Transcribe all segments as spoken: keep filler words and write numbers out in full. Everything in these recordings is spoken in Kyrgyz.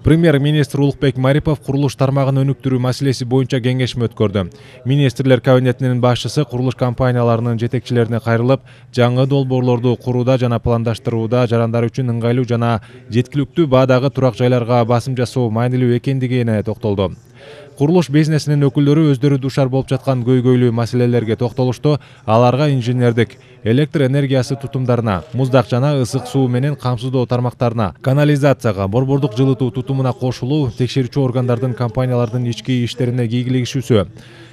Премьер-министр Улукбек Марипов курулуш тармагын өнүктүрүү маселеси боюнча кеңешме өткөрдү. Министрлер кабинетинин башчысы курулуш компанияларынын жетекчилерине кайрылып, жаңы долбоорлорду курууда жана пландаштырууда жарандар үчүн ыңгайлуу жана жеткиликтүү баадагы турак жайларга басым жасоо маанилүү экендигине токтолду. Курулуш бизнесинин өкүлдөрү өздөрү душар болуп жаткан көйгөйлүү маселелерге токтолушту. Аларга инженердик, электр энергиясы тутумдарына, муздак жана ысык суу менен камсыздоо тармактарына, канализацияга, борбордук жылытуу тутумуна кошулуу, текшерүүчү органдардын компаниялардын ички иштерине кийгилигишүүсү,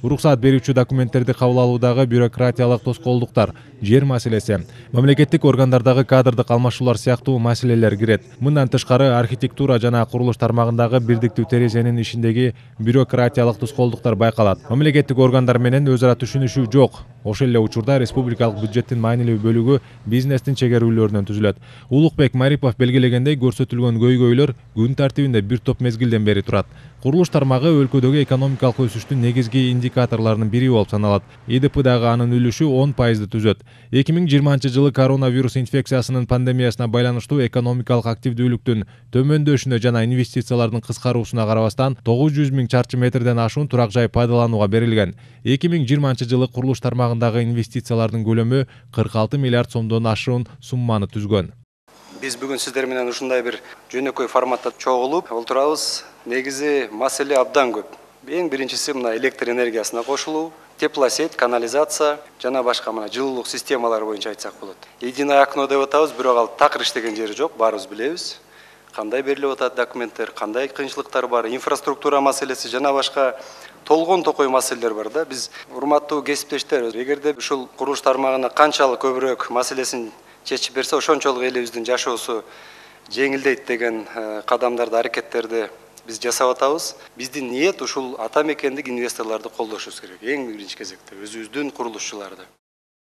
уруксаат берүүчү документтерди кабыл алуудагы бюрократиялык тоскоолдуктар, жер маселеси, мамлекеттик органдардагы кадрдык алмашуулар сыяктуу маселелер кирет. Мындан тышкары архитектура жана курулуш тармагындагы бирдиктүү терезенин ишиндеги бюрократиялык тоскоолдуктар байкалат. Мамлекеттик органдар менен өз ара түшүнүшүү жок. Ошол эле учурда республикалык бюджеттин маанилүү бөлүгү бизнестин чегерүүлөрүнөн түзүлөт. Улукбек Марипов белгилегендей, көрсөтүлгөн көйгөйлөр күн тартибинде бир топ мезгилден бери турат. Курулуш тармагы өлкөдөгү экономикалык өсүштүн негизги индикаторлорунун бири болуп саналат. И Д П'дагы анын үлүшү он пайызды түзөт. эки миң жыйырманчы жылы коронавирус инфекциясынын пандемиясына байланыштуу экономикалык активдүүлүктүн төмөндөшүнө жана инвестициялардын кыскаруусуна карабастан тогуз жүз миң чарчы метрден ашуун турак жай пайдаланууга берилген. эки миң жыйырманчы жылы курулуш тармагындагы инвестициялардын көлөмү кырк алты миллиард сомдон ашуун сумманы түзгөн. Биз бүгүн сиздер менен ушундай бир жөнөкөй форматта чогулуп отурабыз. Негизи маселе абдан көп. Эң биринчиси мына электр энергиясына кошулуу, теплосеть, канализация жана башка мына жылуулук системалары боюнча айтсак болот. Единое окно деп атабыз, бирок ал такыр иштеген жери жок, баарыбыз билебиз. Кандай берилип атат документтер, кандай кыйынчылыктар бар, инфраструктура маселеси жана башка толгон токой маселелер бар да. Биз урматтуу кесиптештер, эгерде ушул курулуш тармагына канчалык көбүрөөк маселесин чечип берсе, ошончолук элибиздин жашоосу жеңилдейт деген кадамдарды, аракеттерди биз жасап атабыз. Биздин ниет ушул ата мекендик инвесторлорду колдошубуз керек. Эң биринчи кезекте өзүбүздүн курулушчуларды.